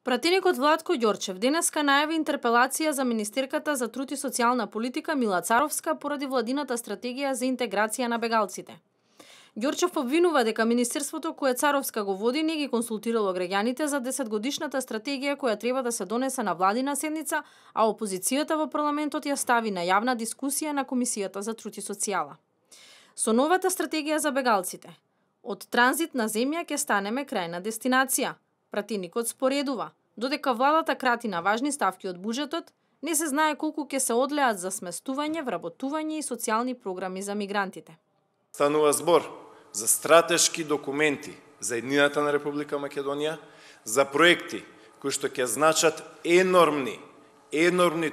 Пратеникот Владко Ѓорчев денеска најави интерпелација за министерката за труд и социјална политика Мила Царовска поради владината стратегија за интеграција на бегалците. Ѓорчев обвинува дека министерството кое Царовска го води не ги консултирало граѓаните за 10-годишната стратегија која треба да се донесе на владина седница, а опозицијата во парламентот ја стави на јавна дискусија на Комисијата за труд и социјала. Со новата стратегија за бегалците, од транзитна земја ќе станеме крајна дестинација. Пратеникот споредува, додека владата крати на важни ставки од буџетот, не се знае колку ќе се одлеат за сместување, вработување и социјални програми за мигрантите. Станува збор за стратешки документи за еднината на Република Македонија, за проекти кои што ќе значат енормни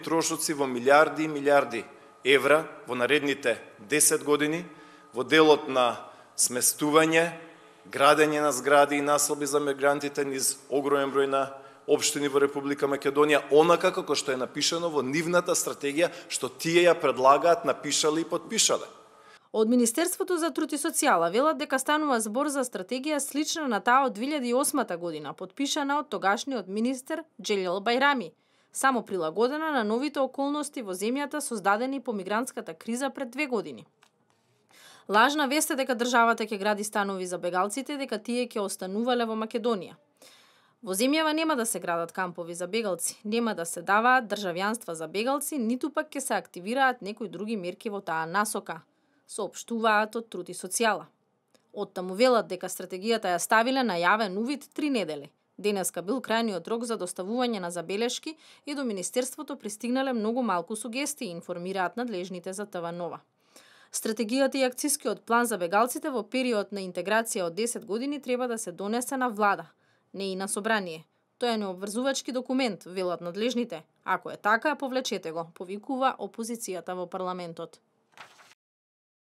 трошоци во милиарди и милиарди евра во наредните 10 години во делот на сместување, градење на згради и населби за мигрантите низ огромен број на општини во Република Македонија, онака како што е напишано во нивната стратегија, што тие ја предлагаат, напишале и подпишале. Од Министерството за труд и социјала велат дека станува збор за стратегија слична на таа од 2008 година, подпишана од тогашниот министер Џелил Бајрами, само прилагодена на новите околности во земјата создадени по мигрантската криза пред 2 години. Лажна вест е дека државата ќе гради станови за бегалците, дека тие ќе останувале во Македонија. Во земјава нема да се градат кампови за бегалци, нема да се даваат државјанства за бегалци, ниту пак ќе се активираат некои други мерки во таа насока, соопштуваат од Труд и социјала. Оттаму велат дека стратегијата ја ставиле на јавен увид 3 недели. Денеска бил крајниот рок за доставување на забелешки и до Министерството пристигнале многу малку сугестии, информираат надлежните за ТВ Нова. Стратегијата и акцискиот план за бегалците во период на интеграција од 10 години треба да се донесе на влада, не и на собрание. Тоа е необврзувачки документ, велат надлежните. Ако е така, повлечете го, повикува опозицијата во парламентот.